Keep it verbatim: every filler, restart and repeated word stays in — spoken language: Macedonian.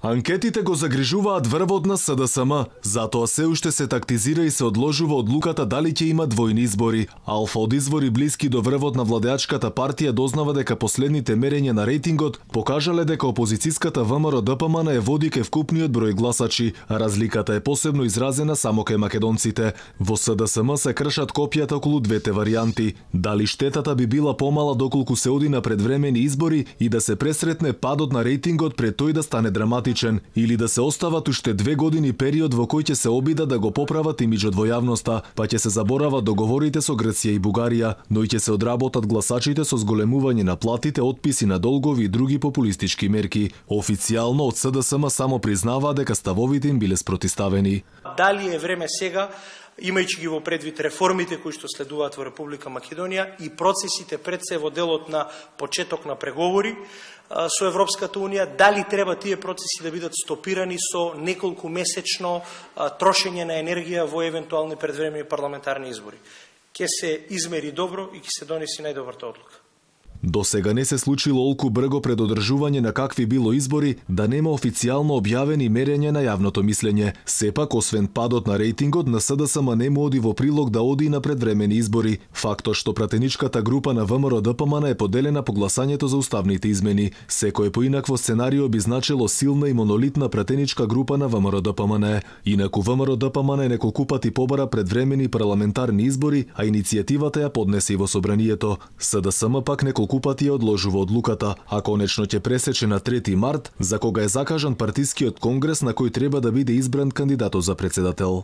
Анкетите го загрижуваат врвот на С Д С М, затоа се уште се тактизира и се одложува одлуката дали ќе има двојни избори. Алфа од извори блиски до врвот на владеачката партија дознава дека последните мерења на рейтингот покажале дека опозицијската В М Р Д П М Н е води ке вкупниот број гласачи. Разликата е посебно изразена само кај македонците. Во С Д С М се кршат копијата околу двете варијанти. Дали штетата би била помала доколку се оди на предвремени избори и да се пресретне падот на рейтингот пред тој да стане драматичен, или да се остават уште две години период во кој ќе се обидат да го поправат имиџот во јавноста, па ќе се заборават договорите со Грција и Бугарија, но и ќе се одработат гласачите со зголемување на платите, отписи на долгови и други популистички мерки. Официјално од С Д С М само признаваа дека ставовите им биле спротиставени. Дали е време сега, имајќи ги во предвид реформите кои што следуваат во Република Македонија и процесите пред се во делот на почеток на преговори со Европската Унија, дали треба тие процеси да бидат стопирани со неколку месечно трошење на енергија во евентуални предвремени парламентарни избори. Ќе се измери добро и ќе се донеси најдобрата одлука. До сега не се случило олку брго пред одржување на какви било избори да нема официјално објавени мерења на јавното мислење. Сепак, освен падот на рейтингот, на С Д С М нему оди во прилог да оди на предвремени избори. Фактот што пратеничката група на В М Р Д П М Н е поделена по гласањето за уставните измени. Секој поинакво сценарио би значило силна и монолитна пратеничка група на В М Р Д П М Н. Инаку В М Р Д П М Н неколку пати побара предвремени парламентарни избори, а иницијативата ја поднесе и во собранието. С Д С М пак неколку пати ја одложува одлуката, а конечно ќе пресече на трети март, за кога е закажан партискиот конгрес на кој треба да биде избран кандидатот за председател.